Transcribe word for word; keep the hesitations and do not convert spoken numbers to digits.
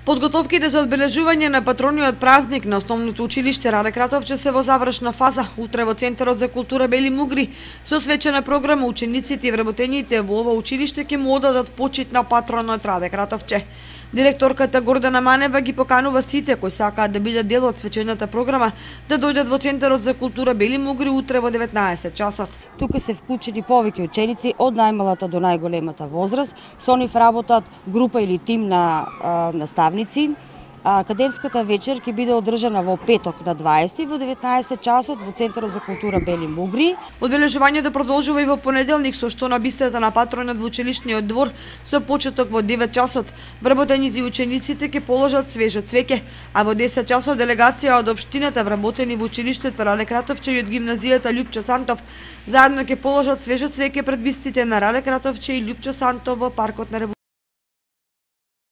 Подготовките за одбележување на патрониот празник на основното училиште Рале Кратовче се во завршна фаза. Утре во Центарот за култура Бели Мугри со свечена програма учениците и вработените во ова училиште ќе му одадат почит на патронот Рале Кратовче. Директорката Гордана Манева ги поканува сите кои сакаат да бидат дел од свечената програма да дојдат во Центарот за култура Бели Мугри утре во деветнаесет часот. Тука се вклучени повеќе ученици од најмалата до најголемата возраст. Со нив работат група или тим на а, наставници. Академската вечер ќе биде одржана во петок на дваесети во деветнаесет часот во Центарот за култура Бели Мугри. Одбележувањето продолжува и во понеделник со што на бистата на патронот во училишниот двор со почеток во девет часот. Вработените и учениците ќе положат свежо цвеќе, а во десет часот делегација од општината вработени во училиштето Рале Кратовче и од гимназијата Љупчо Сантов заедно ќе положат свежо цвеќе пред бистите на Рале Кратовче и Љупчо Сантов во паркот на